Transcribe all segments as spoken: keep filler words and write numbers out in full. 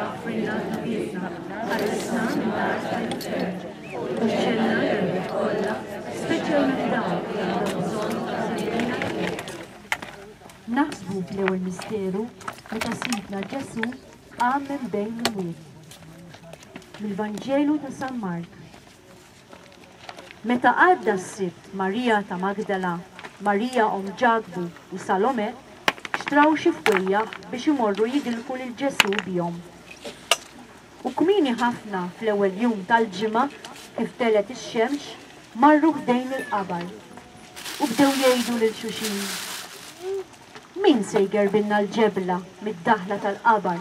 aħfrilna dnubietna, ħarisna min-nar tal-infern, u ġenna l-erwieħ kollha, speċjalment dawk li għandhom bżonn tal-ħniena tiegħek. Naħsbu fl-ewwel misteru meta Sidna Ġesù qam minn bejn l-imwiet. Mill-Vanġelu ta' San Mark. Meta għadda s-Sibt, Marija ta' Magdala, Marija omm Ġakbu u Salome xtraw xi fwejjaħ biex imorru jidilku lil Ġesù bihom. U kmieni ħafna fl-ewwel jum tal-ġimgħa, kif telgħet ix-xemx, marru ħdejn il-qabar u bdew jgħidu lil xulxin: Min se jgerbilna l-ġebla mid-daħla tal-qabar?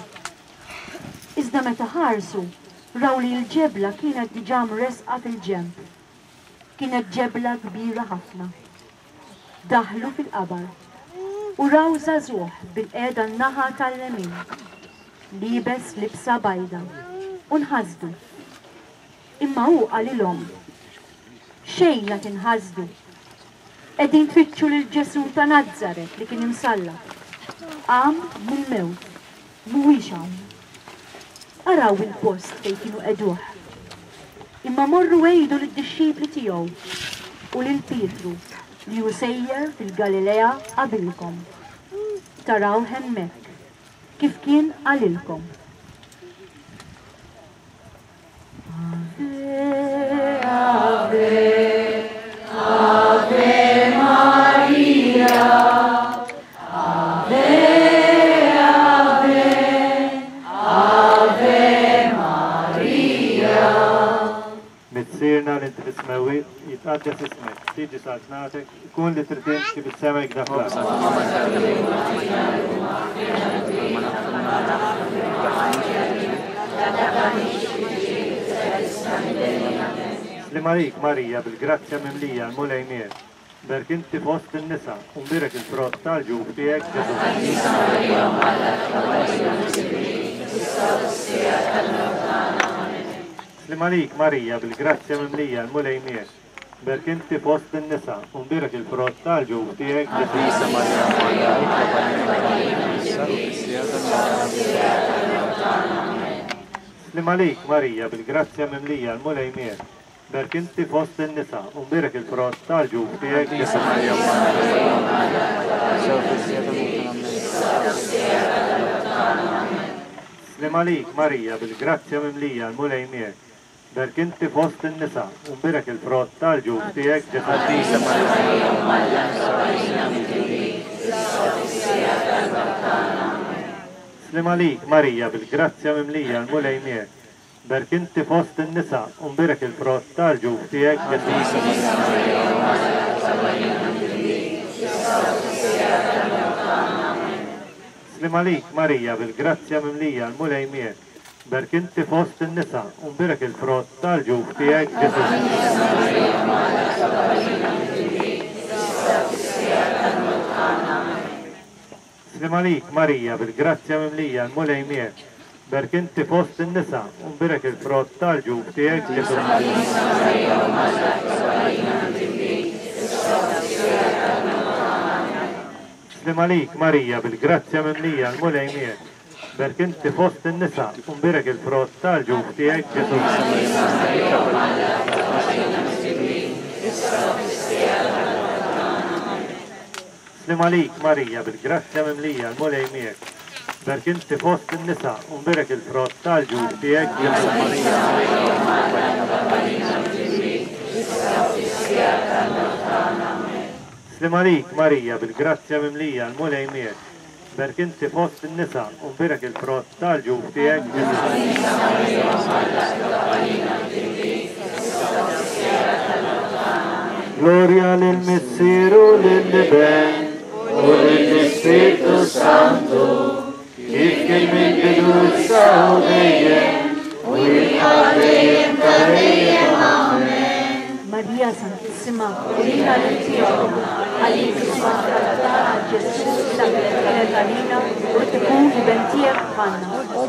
Iżda meta ħarsu, raw li l-ġebla kienet diġà mresqa fil-ġenb. Kienet ġebla kbira ħafna. Daħlu fil-qabar u raw żagħżugħ bil-qiegħda n-naħa tal-lemin, liebes libsa bajda, u nħasdu. Imma hu qalilhom: Xejn la tinħasdu. Qegħdin tfittxu lil Ġesù ta' Nazaret li kien imsallab. Qam mill-mewt, mhuwiex hawn. Araw il-post fejn kienu qegħduh. Imma morru għidu lid-dixxipli tiegħu u lil Pietru li hu sejjer fil-Galilea qabilkom. Taraw hemmhekk kif kien qalilkom. Ave, Ave, Ave Maria. Ave, Ave, Ave Maria. Missierna li inti fis-smewwiet, jitqaddes ismek, tiġi saltnatek, ikun li trid int kif is-sema hekk fl-art. Sliem għalik Marija, bil-grazzja mimlija, l-Mulej miegħek. Berk inti fost in-nisa, u mbierek il-frott tal-ġuf tiegħek, Ġesù. Sliem għalik Marija, bil-grazzja mimlija, l-Mulej miegħek. Berk inti fost in-nisa, u mbierek il-frott tal-ġuf tiegħek, Ġesù. Sliem għalik Marija, bil-grazzja mimlija, l-Mulej miegħek. Berk inti fost in-nisa, u mbierek il-frott tal-ġuf tiegħek, Ġesù. Sliem għalik Marija, bil-grazzja mimlija, l-Mulej miegħek. Berk inti fost in-nisa, u mbierek il-frott tal-ġuf tiegħek, Ġesù. Sliem għalik Marija, bil-grazzja mimlija, l-Mulej miegħek. Berk inti fost in-nisa, u mbierek il-frott tal-ġuf tiegħek, Ġesù. Sliem għalik Marija, bil-grazzja mimlija, l-Mulej miegħek. Berk inti fost in-nisa, u mbierek il-frott tal-ġuf tiegħek, Ġesù. Sliem għalik Marija, bil-grazzja mimlija, l-Mulej miegħek. Berk inti fost in-nisa, u mbierek il-frott tal-ġuf tiegħek, Ġesù. Sliem għalik Marija, bil-grazzja mimlija, l-Mulej miegħek. Berk inti fost in-nisa, u mbierek il-frott tal-ġuf tiegħek, Ġesù. Sliem għalik Marija, bil-grazzja mimlija, l-Mulej miegħek. Berk inti fost in-nisa, u mbierek il-frott tal-ġuf tiegħek, Ġesù. Sliem għalik Marija, bil-grazzja mimlija, l-Mulej miegħek. Berk inti fost in-nisa, u mbierek il-frott tal-ġuf tiegħek, Ġesù. Gloria lil Missier u lill-Iben u lill-Ispirtu Santu, kif kien mill-bidu issa u dejjem, u jibqa' dejjem ta' dejjem. Amen. Marija Santissima, urina lil tiegħu, għalik isma' tagħna Ġesù dak li kienet għalina u tkun iben tiegħek bħalna. O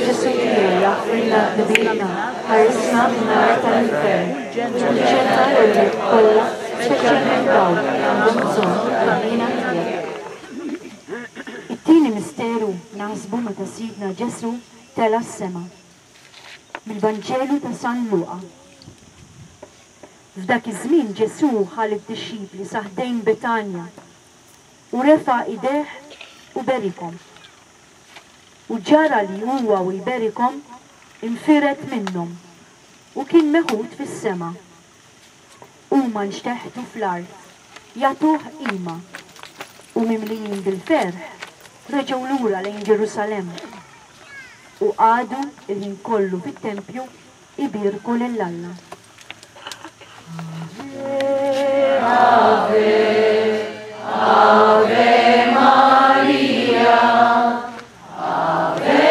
Ġesù tiegħi, aħfrilna dnubietna, ħarisna min-nar tal-infern, u ġenna l-erwieħ kollha, speċjalment dawk li għandhom bżonn il-ħniena tiegħek. It-tieni misteru naħsbu meta Sidna Ġesù tela' s-sema. Mill-Vanġelu ta' San Luqa. F'dak iż-żmien Ġesù ħa lid-dixxipli sa ħdejn Betanja u refa' idejh u berikhom. U ġara li huwa u jberikhom infired minnhom u kien meħud fis-sema. Huma nxteħtu fl-art, jagħtuh qima, u mimlijin bil-ferħ reġgħu lura lejn Ġerusalemm u qagħdu il-ħin kollu fit-tempju ibierku lil Alla. Ave, Ave Maria, Ave,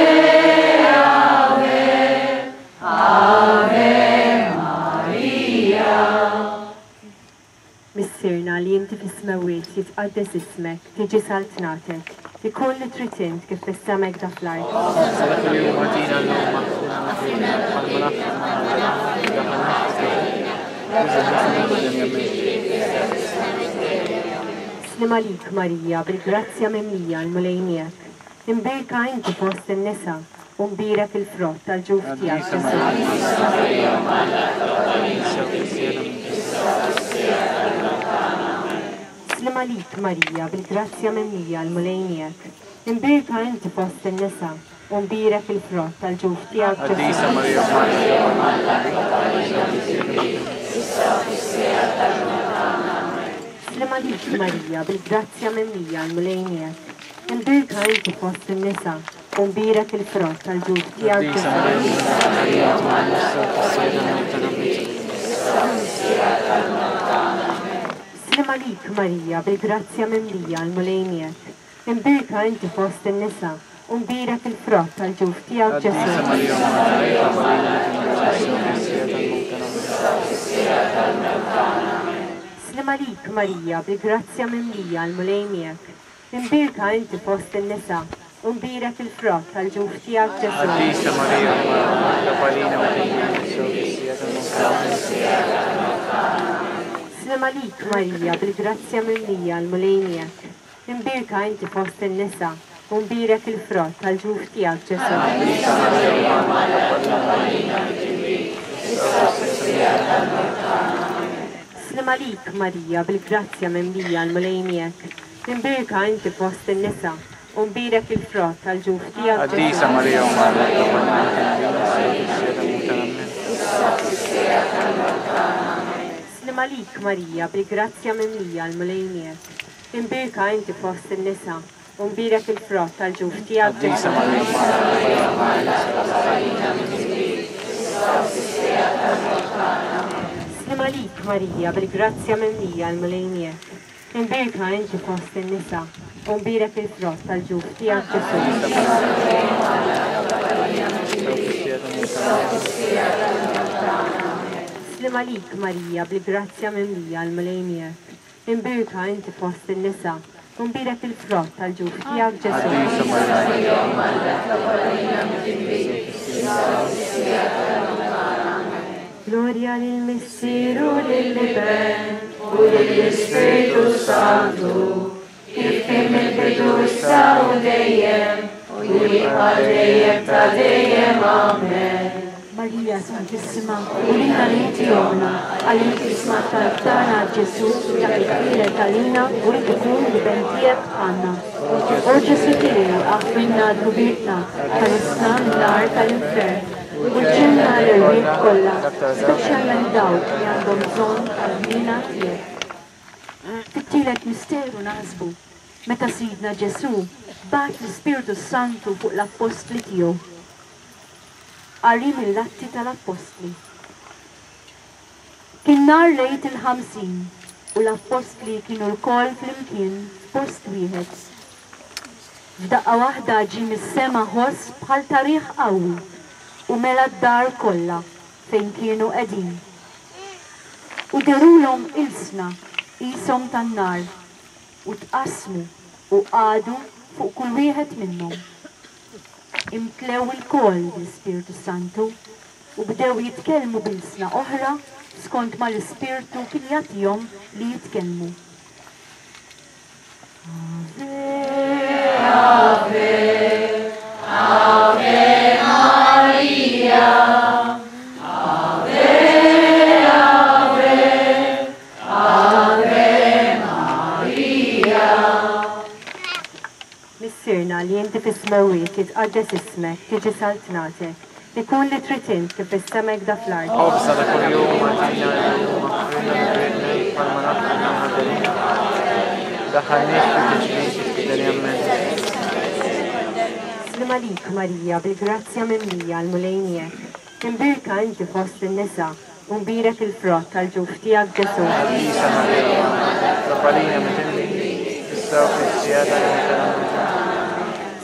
Ave, Ave Maria. Missierna li inti fis-smewwiet, jitqaddes ismek, tiġi saltnatek, ikun li trid int kif fis-sema hekk fl-art. Kuljum agħtina llum maħfirna bħalma naħfru aħna. Sliem għalik Marija, bil-grazzja mimlija, l-Mulej miegħek. Imbierka inti fost in-nisa u mbierek il-frott tal-ġuf tiegħek Ġesù. Sliem għalik Marija, bil-grazzja mimlija, l-Mulej miegħek. Imbierka inti fost in-nisa u mbierek il-frott tal-ġuf tiegħek Ġesù. Sliem għalik Marija, bil-grazzja mimlija, l-Mulej miegħek. Imbierka inti fost in-nisa u mbierek il-frott tal-ġuf tiegħek Ġesù. Sliem għalik Marija, bil-grazzja mimlija, l-Mulej miegħek. Imbierka inti fost in-nisa u mbierek il-frott tal-ġuf tiegħek Ġesù. Sliem għalik Marija, bil-grazzja mimlija, l-Mulej miegħek. Imbierka inti fost in-nisa u mbierek il-frott tal-ġuf tiegħek Ġesù. Sliem għalik Marija, bil-grazzja mimlija, l-Mulej miegħek. Imbierka inti fost in-nisa u mbierek il-frott tal-ġuf tiegħek Ġesù. Sliem għalik Marija, bil-grazzja mimlija, l-Mulej miegħek. Imbierka inti fost in-nisa u mbierek il-frott tal-ġuf tiegħek Ġesù. Sliem għalik Marija, bil-grazzja mimlija, l-Mulej miegħek. Imbierka inti fost in-nisa u mbierek il-frott tal-ġuf tiegħek Ġesù. Sliem għalik Marija, bil-grazzja mimlija, l-Mulej miegħek. Imbierka inti fost in-nisa u mbierek il-frott tal-ġuf tiegħek Ġesù. Sliem għalik Marija, bil-grazzja mimlija, l-Mulej miegħek. Imbierka inti fost in-nisa u mbierek il-frott tal-ġuf tiegħek Ġesù. Gloria lil Missier u lill-Iben u lill-Ispirtu Santu, kif kien mill-bidu issa u dejjem u jibqa' dejjem ta' dejjem. Amen. Marija Santissima, urina li inti ommna, għal inti smajt talb tagħna Ġesù, dak li twieled għalina u rid ikun l-Iben tiegħek għandna. O Ġesù tiegħi, aħfrilna dnubietna, ħarisna min-nar tal-infern, u ġġilna l-erwieħ kollha, speċjalment dawk li għandhom bżonn tal-ħniena tiegħek. Fit-tielet misteru naħsbu meta Sidna Ġesù bagħat l-Ispirtu Santu fuq l-appostli tiegħu. Qari mill-Atti tal-Appostli. Kien nhar lejt il-ħamsin u l-appostli kienu lkoll flimkien f'post wieħed. F'daqqa waħda ġie mis-sema ħoss bħal ta' riħ qawwi u mela d-dar kollha fejn kienu qegħdin. U derulhom ilsna qishom tan-nar u tqassmu u qagħdu fuq kull wieħed minnhom. Imtlew ilkoll bl-Ispirtu Santu u bdew jitkellmu b'ilsna oħra skont ma l-Ispirtu kien jagħtihom li jitkellmu. Ave, Ave, Ave. Missierna li inti fis-smewwiet, jitqaddes ismek, tiġi saltnatek, ikun li trid int kif fis-sema hekk fl-art. Ħobżna ta' kuljum agħtina llum, aħfrilna dnubietna bħalma naħfru aħna lil Daħħalniex fi tiġrib, fideli ammen. Sliem għalik Marija, bil-grazzja mimlija, l-Mulej miegħek. Imbierka inti fost in-nisa, u mbierek il-frott tal-ġuf tiegħek Ġesù. Qaddisa Marija, Itlob għalina midinbin, issa u fis-siegħa tal-mewt tagħna.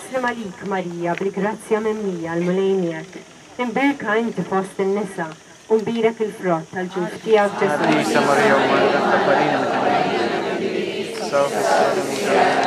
Sliem għalik Marija, bil-grazzja mimlija, l-Mulej miegħek. Imbierka inti fost in-nisa, u mbierek il-frott tal-ġuf tiegħek Ġesù. Qaddisa Marija, Omm Alla, itlob għalina midinbin, issa u fis-siegħa tal-mewt tagħna.